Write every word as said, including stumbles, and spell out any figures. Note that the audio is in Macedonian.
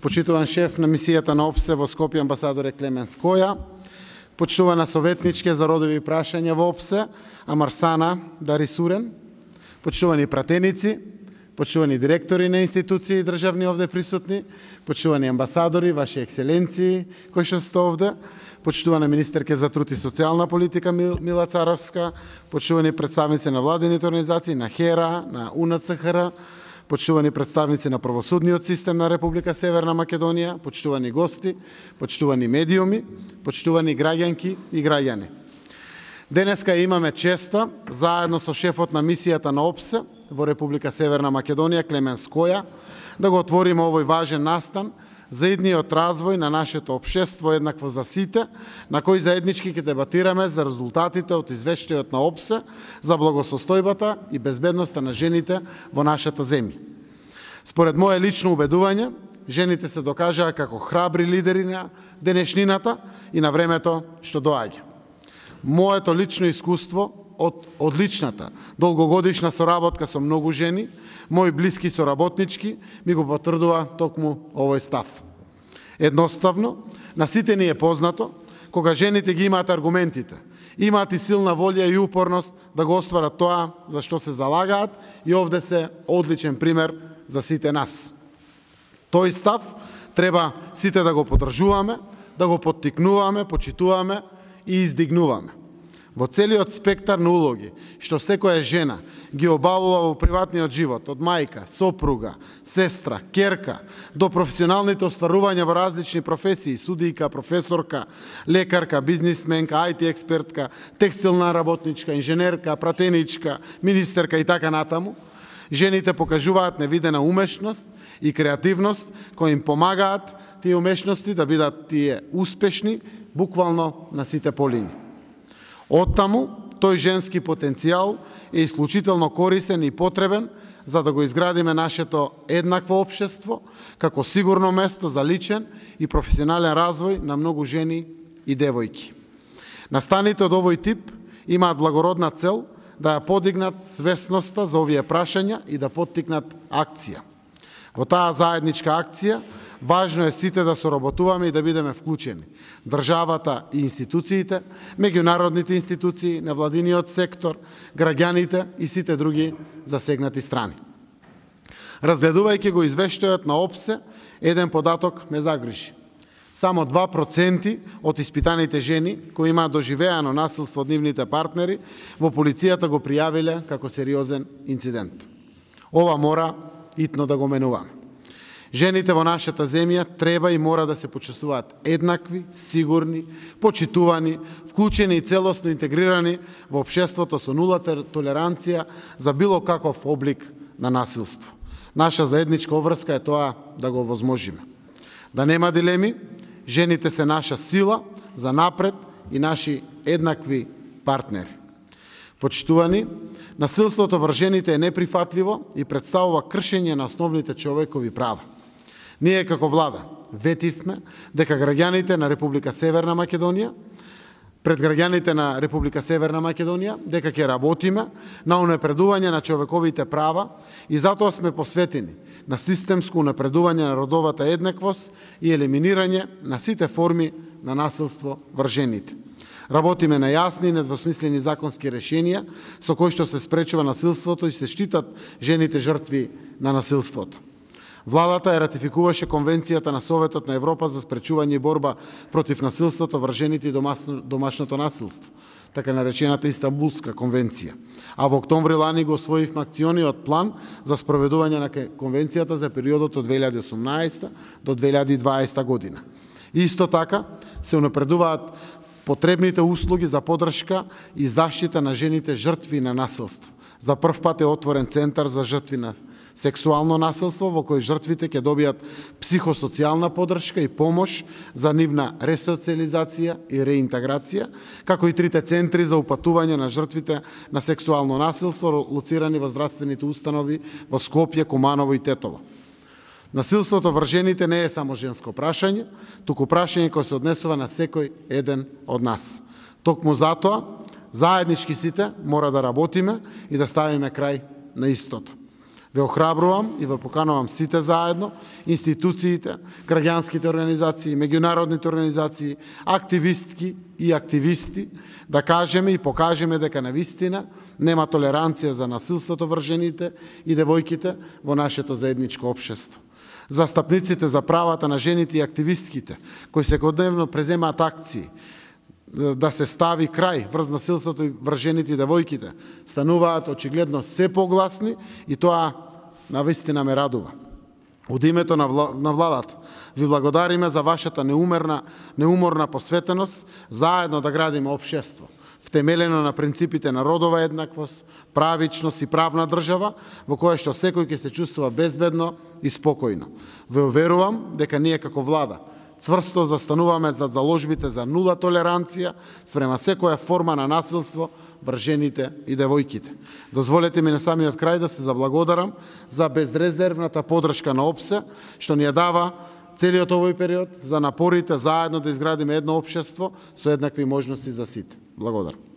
почитуван шеф на мисијата на ОПСЕ во Скопје амбасадоре Клемен Скоја, почитувана советничке за родови прашања во ОПСЕ Амарсана Дарисурен, почитувани пратеници, почитувани директори на институции и државни овде присутни, почитувани амбасадори, ваши екселенции кои што сте овде, почитувана министерка за труд и социјална политика Мила Царовска, почитувани представници на владините организации, на ХЕРА, на УНЦХР, почитувани представници на правосудниот систем на Република Северна Македонија, почитувани гости, почитувани медиуми, почитувани граѓанки и граѓани. Денеска имаме честа, заедно со шефот на мисијата на ОПСЕ во Република Северна Македонија, Клемен Скоја, да го отвориме овој важен настан за идниот развој на нашето општество еднакво за сите, на кој заеднички ќе дебатираме за резултатите од извештајот на ОПСЕ за благосостојбата и безбедноста на жените во нашата земја. Според моје лично убедување, жените се докажаа како храбри лидери на денешнината и на времето што доаѓа. Моето лично искуство од одличната долгогодишна соработка со многу жени, мои блиски соработнички, ми го потврдува токму овој став. Едноставно, на сите ни е познато, кога жените ги имаат аргументите, имаат и силна волја и упорност да го остварат тоа за што се залагаат и овде се одличен пример за сите нас. Тој став треба сите да го поддржуваме, да го поттикнуваме, почитуваме и издигнуваме. Во целиот спектар на улоги, што секоја жена ги обавува во приватниот живот, од мајка, сопруга, сестра, керка, до професионалните остварувања во различни професии, судијка, професорка, лекарка, бизнисменка, ај ти експертка, текстилна работничка, инженерка, пратеничка, министерка и така натаму, жените покажуваат невидена умешност и креативност кои им помагаат тие умешности да бидат тие успешни буквално на сите полини. Оттаму, тој женски потенцијал е исклучително корисен и потребен за да го изградиме нашето еднакво општество како сигурно место за личен и професионален развој на многу жени и девојки. Настаните од овој тип имаат благородна цел да ја подигнат свесноста за овие прашања и да поттикнат акција. Во таа заедничка акција важно е сите да соработуваме и да бидеме вклучени. Државата и институциите, меѓународните институции, невладиниот сектор, граѓаните и сите други засегнати страни. Разгледувајќи го извештајот на ОПСЕ, еден податок ме загрижи. Само два проценти од испитаните жени кои имаат доживеано насилство од нивните партнери во полицијата го пријавиле како сериозен инцидент. Ова мора итно да го менуваме. Жените во нашата земја треба и мора да се почувствуваат еднакви, сигурни, почитувани, вклучени и целосно интегрирани во општеството со нула толеранција за било каков облик на насилство. Наша заедничка обврска е тоа да го возможиме. Да нема дилеми, жените се наша сила за напред и наши еднакви партнери. Почитувани, насилството врз жените е неприфатливо и представува кршење на основните човекови права. Ние како влада ветивме дека граѓаните на Република Северна Македонија, пред граѓаните на Република Северна Македонија, дека ќе работиме на унапредување на човековите права и затоа сме посветени на системско унапредување на родовата еднаквост и елиминирање на сите форми на насилство врз жените. Работиме на јасни и недвосмислени законски решенија со кои што се спречува насилството и се штитат жените жртви на насилството. Владата ја ратификуваше Конвенцијата на Советот на Европа за спречување и борба против насилството врз жените и домашното насилство, така наречената Истанбулска конвенција. А во октомври лани го освоивме акциониот план за спроведување на конвенцијата за периодот од две илјади и осумнаесета до две илјади и дваесета година. Исто така се унапредуваат потребните услуги за поддршка и заштита на жените жртви на насилство. За прв пат е отворен центар за жртви на сексуално насилство, во кој жртвите ќе добијат психосоцијална поддршка и помош за нивна ресоциализација и реинтеграција, како и трите центри за упатување на жртвите на сексуално насилство, лоцирани во здравствените установи во Скопје, Куманово и Тетово. Насилството врз жените не е само женско прашање, туку прашање кој се однесува на секој еден од нас. Токму затоа, заеднички сите мора да работиме и да ставиме крај на истото. Ве охрабрувам и ве поканувам сите заедно, институциите, граѓанските организации, меѓународните организации, активистки и активисти, да кажеме и покажеме дека навистина нема толеранција за насилството врз жените и девојките во нашето заедничко општество. Застапниците за правата на жените и активистките, кои секојдневно преземаат акции да се стави крај врз насилството врз жените и девојките, стануваат очигледно се погласни и тоа навистина ме радува. Од името на владата ви благодариме за вашата неумерна, неуморна посветеност, заедно да градиме општество, втемелено на принципите на родова еднаквост, правичност и правна држава, во која што секој ќе се чувствува безбедно и спокојно. Ве уверувам дека ние како влада цврсто застануваме за заложбите за нула толеранција спрема секоја форма на насилство врз жените и девојките. Дозволете ми на самиот крај да се заблагодарам за безрезервната подршка на ОПСЕ, што ни ја дава целиот овој период, за напорите заедно да изградиме едно општество со еднакви можности за сите. Благодарам.